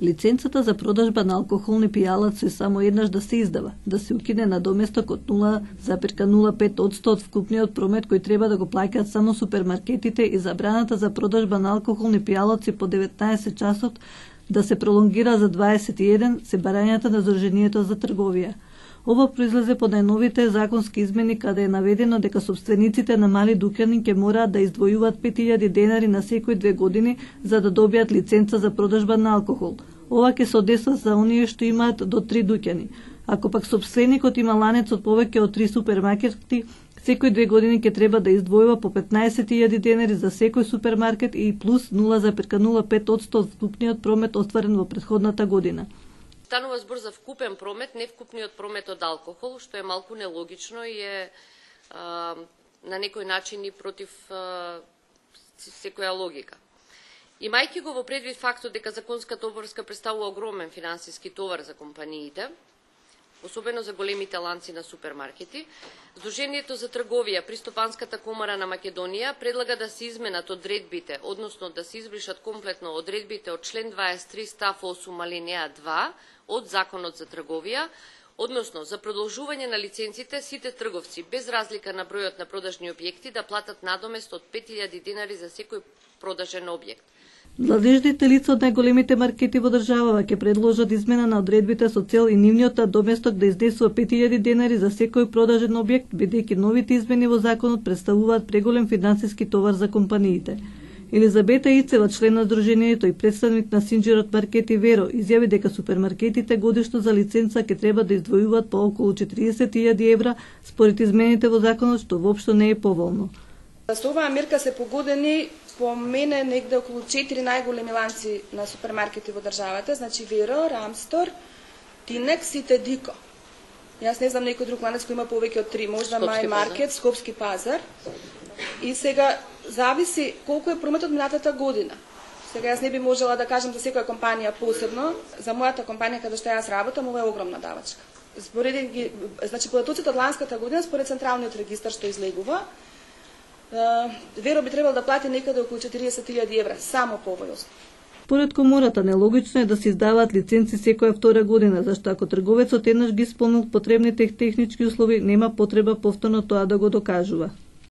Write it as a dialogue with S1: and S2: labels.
S1: Лиценцата за продажба на алкохолни пијалаци само еднаш да се издава, да се укине на доместок од 0,05% од вкупниот промет кој треба да го плаќаат само супермаркетите и забраната за продажба на алкохолни пијалаци по 19 часот да се пролонгира за 21 се барањата на Сдруженијето за трговија. Ова произлезе по најновите законски измени каде е наведено дека собствениците на мали дуќани ќе мораат да издвојуваат 5000 денари на секој 2 години за да добијат лиценца за продажба на алкохол. Ова ќе се однесува за оние што имаат до 3 дуќани. Ако пак собственикот има ланец од повеќе од 3 супермаркети, секој 2 години ќе треба да издвојува по 15.000 денари за секој супермаркет и плюс 0,05% од вкупниот промет остварен во претходната година.
S2: Станува збор за вкупен промет, не вкупниот промет од алкохол, што е малку нелогично и е на некој начин и против секоја логика. Имајќи го во предвид фактот дека законската обврска представува огромен финансиски товар за компаниите, особено за големите ланци на супермаркети, Сдруженијето за трговија при Стопанската комора на Македонија предлага да се изменат одредбите, односно да се избришат комплетно одредбите од член 23 став 8 алинеја 2 од Законот за трговија, односно за продолжување на лиценците сите трговци без разлика на бројот на продажни објекти да платат надомест од 5000 денари за секој продажен објект.
S1: Владежните лица од најголемите маркети во државава ќе предложат измена на одредбите со цел и нивниот доместок да изнесува 5000 денари за секој продажен објект, бидејќи новите измени во законот представуваат преголем финансиски товар за компаниите. Елизабета Ицева, член на Сдруженијето и представник на Синџирот Маркети Веро, изјави дека супермаркетите годишно за лиценца ќе треба да издвојуваат по околу 40.000 евра според измените во законот, што воопшто не е поволно.
S3: Со оваа мерка се погодени по мене негде околу 4 најголеми ланци на супермаркети во државата, значи Веро, Рамстор, Тинекс и Тедико. Јас не знам некој друг ланец кој има повеќе од 3, можда Мај Маркет, Скопски пазар. И сега зависи колку е прометот минатата година. Сега јас не би можела да кажам за секоја компанија посебно, за мојата компанија каде што јас работам, ова е огромна давачка. Спореден значи податоците од ланската година според централниот регистар што излегува, Веро би требало да плати некаде околу 40.000 евра, само по овој основ.
S1: Според комората, нелогично е да се издаваат лиценци секоја втора година, зашто ако трговецот еднаш ги исполнил потребните технички услови, нема потреба повторно тоа да го докажува.